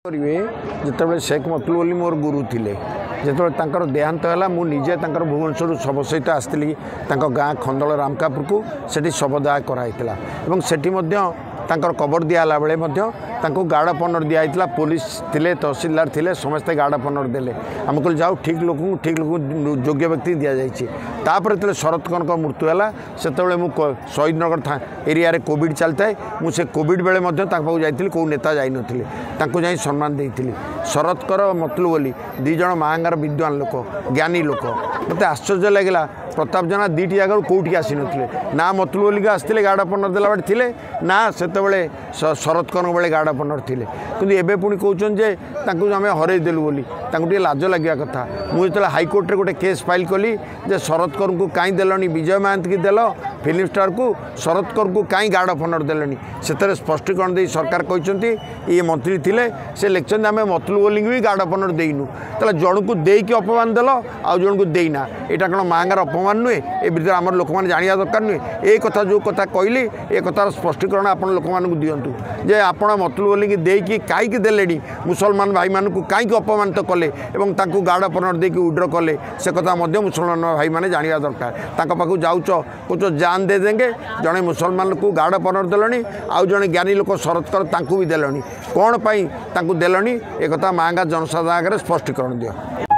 କରିବେ, ଯେତେବେଳେ ଶେଖ ମତଲୁବ ଅଲି ମୋର ଗୁରୁ ଥିଲେ, ଯେତେବେଳେ ତାଙ୍କର ଦେହାନ୍ତ ହେଲା, ମୁଁ ନିଜେ ତାଙ୍କର ଭୁବନେଶ୍ୱରରୁ ଶବ ସହିତ ଆସିଥିଲି ତାଙ୍କ ଗାଁ ଖନ୍ଦଳ ରାମକାପୁରକୁ। ସେଠି ଶବଦାହ କରାହେଇଥିଲା ଏବଂ ସେଠି ମଧ୍ୟ ତାଙ୍କର କବର ଦିଆହେଲା ବେଳେ ମଧ୍ୟ ତାଙ୍କୁ ଗାର୍ଡ଼ ଅଫ୍ ଅନର୍ ଦିଆହେଇଥିଲା। ପୋଲିସ ଥିଲେ, ତହସିଲଦାର ଥିଲେ, ସମସ୍ତେ ଗାର୍ଡ଼ ଅଫ୍ ଅନର୍ ଦେଲେ। ଆମେ କହିଲୁ ଯାଉ, ଠିକ୍ ଲୋକଙ୍କୁ, ଠିକ୍ ଲୋକଙ୍କୁ, ଯୋଗ୍ୟ ବ୍ୟକ୍ତି ଦିଆଯାଇଛି। ତାପରେ ଯେତେବେଳେ ଶରତ କରଙ୍କ ମୃତ୍ୟୁ ହେଲା, ସେତେବେଳେ ମୁଁ ଶହୀଦନଗର ଏରିଆରେ କୋଭିଡ଼ ଚାଲିଥାଏ, ମୁଁ ସେ କୋଭିଡ଼ ବେଳେ ମଧ୍ୟ ତାଙ୍କ ପାଖକୁ ଯାଇଥିଲି, କେଉଁ ନେତା ଯାଇନଥିଲେ, ତାଙ୍କୁ ଯାଇ ସମ୍ମାନ ଦେଇଥିଲି। ଶରତ କର, ମତଲୁବ ଅଲି ଦୁଇ ଜଣ ମାହାଙ୍ଗାର ବିଦ୍ୱାନ ଲୋକ, ଜ୍ଞାନୀ ଲୋକ। ମୋତେ ଆଶ୍ଚର୍ଯ୍ୟ ଲାଗିଲା, ପ୍ରତାପ ଜେନା ଦୁଇଟି ଜାଗାରୁ କେଉଁଠିକି ଆସିନଥିଲେ। ନା ମତଲୁବ ଅଲିକୁ ଆସିଥିଲେ ଗାର୍ଡ଼ ଅଫ୍ ଅନର୍ ଦେଲା ବେଳେ ଥିଲେ, ନା ସେତେବେଳେ ଶରତ କରଙ୍କ ବେଳେ ଗାର୍ଡ଼ ଅଫ୍ ଅନର୍ ଥିଲେ। କିନ୍ତୁ ଏବେ ପୁଣି କହୁଛନ୍ତି ଯେ ତାଙ୍କୁ ଆମେ ହରେଇ ଦେଲୁ ବୋଲି। ତାଙ୍କୁ ଟିକେ ଲାଜ ଲାଗିବା କଥା। ମୁଁ ଯେତେବେଳେ ହାଇକୋର୍ଟରେ ଗୋଟେ କେସ୍ ଫାଇଲ୍ କଲି ଯେ ଶରତ କରଙ୍କୁ କାହିଁ ଦେଲନି, ବିଜୟ ମହାନ୍ତିକି ଦେଲ ଫିଲ୍ମ ଷ୍ଟାରକୁ, ଶରତ କରଙ୍କୁ କାହିଁ ଗାର୍ଡ଼ ଅଫ୍ ଅନର୍ ଦେଲେନି, ସେଥିରେ ସ୍ପଷ୍ଟୀକରଣ ଦେଇ ସରକାର କହିଛନ୍ତି, ଇଏ ମନ୍ତ୍ରୀ ଥିଲେ, ସେ ଲେଖିଛନ୍ତି ଆମେ ମତଲୁବ ଅଲିଙ୍କୁ ବି ଗାର୍ଡ଼ ଅଫ୍ ଅନର୍ ଦେଇନୁ। ତାହେଲେ ଜଣକୁ ଦେଇକି ଅପମାନ ଦେଲ, ଆଉ ଜଣକୁ ଦେଇନା, ଏଇଟା କ'ଣ ମାଆଙ୍କର ଅପମାନ ନୁହେଁ? ଏ ଭିତରେ ଆମର ଲୋକମାନେ ଜାଣିବା ଦରକାର ନୁହେଁ? ଏ କଥା ଯେଉଁ କଥା କହିଲି, ଏ କଥାର ସ୍ପଷ୍ଟୀକରଣ ଆପଣ ଲୋକମାନଙ୍କୁ ଦିଅନ୍ତୁ ଯେ ଆପଣ ମତଲୁବ ଅଲିକି ଦେଇକି କାହିଁକି ଦେଲେଣି, ମୁସଲମାନ ଭାଇମାନଙ୍କୁ କାହିଁକି ଅପମାନିତ କଲେ ଏବଂ ତାଙ୍କୁ ଗାର୍ଡ଼ ଅଫ୍ ଅନର୍ ଦେଇକି ୱିଡ୍ର କଲେ, ସେ କଥା ମଧ୍ୟ ମୁସଲମାନ ଭାଇମାନେ ଜାଣିବା ଦରକାର। ତାଙ୍କ ପାଖକୁ ଯାଉଛ, କହୁଛ ଜାନ୍ ଦେ ଦେଙ୍ଗେ, ଜଣେ ମୁସଲମାନକୁ ଗାର୍ଡ଼ ଅଫ୍ ଅନର୍ ଦେଲଣି, ଆଉ ଜଣେ ଜ୍ଞାନୀ ଲୋକ ଶରତ କର ତାଙ୍କୁ ବି ଦେଲଣି, କ'ଣ ପାଇଁ ତାଙ୍କୁ ଦେଲଣି? ଏ କଥା ମାଆଙ୍ଗା ଜନସାଧାରଣ ଆଗରେ ସ୍ପଷ୍ଟୀକରଣ ଦିଅ।